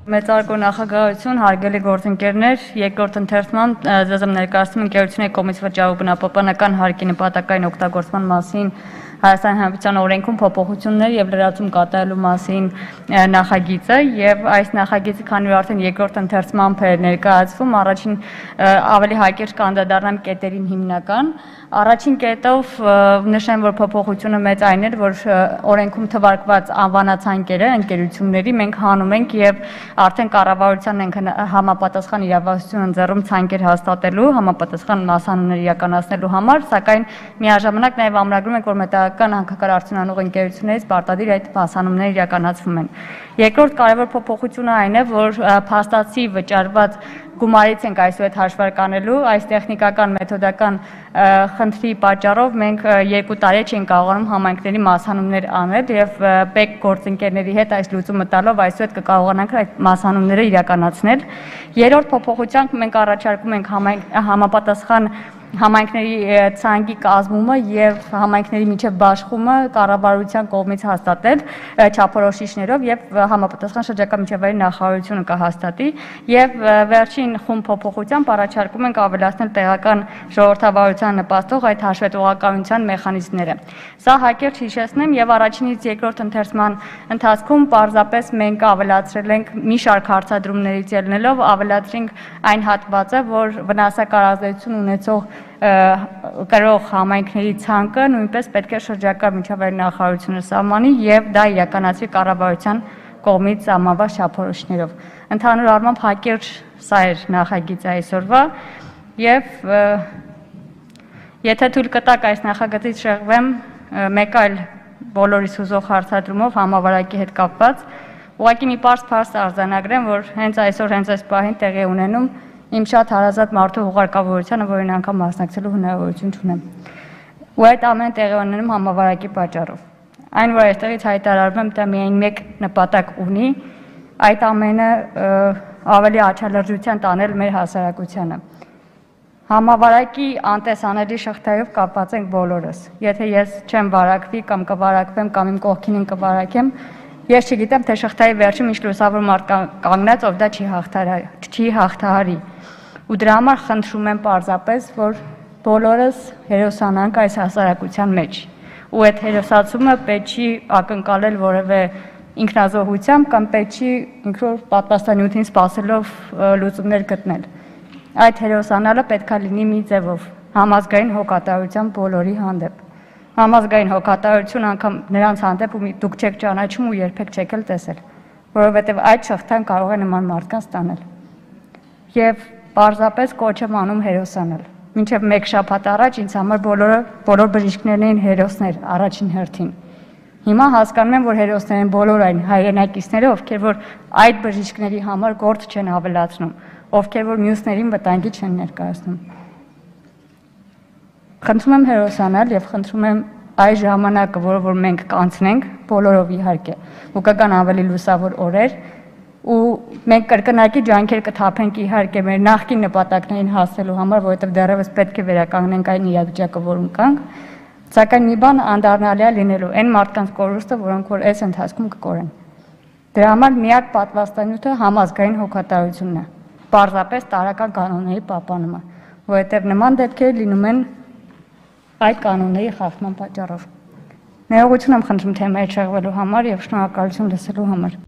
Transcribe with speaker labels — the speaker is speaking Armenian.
Speaker 1: Մեծարգո նախագահություն, հարգելի գործընկերներ, երկրորդ ընթերցման ձեզ ներկայացնում ընկերությունների կողմից վճարվող բնապահպանական հարկի նպատակային օգտագործման մասին Հայաստանի Հանրապետության օրենքում փոփոխություններ եւ լրացում կատարելու մասին նախագիծը եւ այս նախագիծը քանի որ արդեն երկրորդ ընթերցմամբ է ներկայացվում, առաջին ավելի հակիրճ կանդրադառնամ կետերին հիմնական Առաջին կետով նշեմ, որ փոփոխությունը մեծ այն էր, որ օրենքում թվարկված անվանացանկերը ընկերությունների մենք հանում ենք եւ արդեն կառավարությանն ենք համապատասխան իրավասություն ընձեռում ցանկեր հաստատելու, համապատասխան մասանուններ իրականացնելու համար, սակայն միաժամանակ նաեւ ամրագրում ենք, որ մետաղական հանքական արդյունանող ընկերություններից պարտադիր այդ մասանունները իրականացվում են։ Երկրորդ կարևոր փոփոխությունը այն է, որ փաստացի վճարված գումարից ենք այսօր այդ հաշվարկանելու, այս տեխնիկական մեթոդական խնդրի պատճառով մենք 2 տարի չենք կարողանում համայնքների մասանուններ անել եւ ՊԵԿ գործընկերների հետ այս լուծումը տալով այսօր կկարողանանք այդ մասանունները իրականացնել։ Երրորդ փոփոխությամբ մենք առաջարկում ենք համապատասխան համայնքների ցանկի կազմումը եւ համայնքների միջև բաշխումը կառավարության կողմից հաստատել չափորոշիչներով եւ համապատասխան շրջակա միջավայրի նախարարությունը կհաստատի եւ վերջին խումբ փոփոխությամբ առաջարկում ենք ավելացնել տեղական ժողովրդավարության նպաստող այդ հաշվետվողականության մեխանիզմները։ Սա հակիրճ հիշեցնեմ եւ առաջինից երկրորդ ընթերցման ընթացքում պարզապես մենք ավելացրել ենք մի շարք հարցադրումներից ելնելով ավելացրինք այն հատվածը, որ վնասակար ազդեցություն ունեցող կրող համայնքների ցանկը նույնպես պետք է շրջակա միջավայրի նախարարությունը սահմանի եւ դա իրականացվի կառավարության կողմից սահմանված չափորոշիչներով։ Ընդհանուր առմամբ հակիրճ սա էր նախագիծը այսօրվա եւ եթե թույլ կտաք այս նախագծից շեղվեմ մեկ այլ բոլորիս հուզող հարցադրումով համավարակի հետ կապված, ուղղակի մի պարզ արձանագրեմ, որ հենց այսօր հենց այս պահին տեղի ունենում իմ շատ հարազատ մարդու հուղարկավորությանը, որին անգամ մասնակցելու հնարավորություն չունեմ։ Ու այդ ամենը տեղի ունենում համավարակի պատճառով։ Այն, որ այստեղից հայտարարում եմ, դա միայն մեկ նպատակ ունի, այդ ամենը ավելի աչալրջության տանել մեր հասարակությանը։ Համավարակի անտեսանելի շղթայով կապված ենք բոլորս։ Եթե ես չեմ վարակվի կամ կվարակվեմ կամ իմ կողքին կվարակեմ, ես չգիտեմ, թե շղթայի վերջում ինչ լուսավոր մարդ կանգնած, ով դա չի հաղթահարի։ Ու դրա համար խնդրում եմ պարզապես, որ բոլորս հերոսանանք այս հասարակության մեջ։ Ու այդ հերոսացումը պետք չի ակնկալել որևէ ինքնազոհությամբ կամ պետք չի ինքնուրույն պատվաստանյութին սպասելով լուծումներ գտնել։ Այդ հերոսանալը պետք է լինի մի ձևով համազգային հոգատարության բոլորի հանդեպ։ Համազգային հոգատարություն անգամ նրանց հանդեպ ու դուք չեք ճանաչում ու երբեք չեք էլ տեսել, որովհետև այդ շղթան կարող է նման մարդկանց տանել։ Եվ պարզապես կոչ եմ անում հերոսանալ։ Մինչև 1 շաբաթ առաջ ինձ համար բոլոր բժիշկներն էին հերոսներ առաջին հերթին։ Հիմա հասկանում եմ, որ հերոսներ են բոլոր այն հայրենակիցները, ովքեր որ այդ բժիշկների համար գործ չեն ավելացնում, ովքեր որ մյուսներին վտանգի չեն ներկայացնում։ Խնդրում եմ հերոսանալ եւ խնդրում եմ այս ժամանակը, որը մենք կանցնենք, բոլորով իհարկե, ու կգան ավելի լուսավոր օրեր, ու մենք կրկնակի ջանքեր կթափենք իհարկե մեր նախկին նպատակներին հասնելու համար, որովհետեւ դեռևս պետք է վերականգնենք այն իրավիճակը, որում կանք, սակայն մի բան անդառնալի է լինելու այն մարդկանց կորուստը, որոնք որ այս ընթացքում կկորեն։ Դրա համար միակ պատվաստանյութը համազգային հոգատարությունն է, պարզապես տարրական կանոնների պահպանումը, որովհետեւ նման դեպքեր լինում են այդ կանոնների խախտման պատճառով։ Ներողություն եմ խնդրում թեմայի շեղվելու համար եւ շնորհակալություն լսելու համար։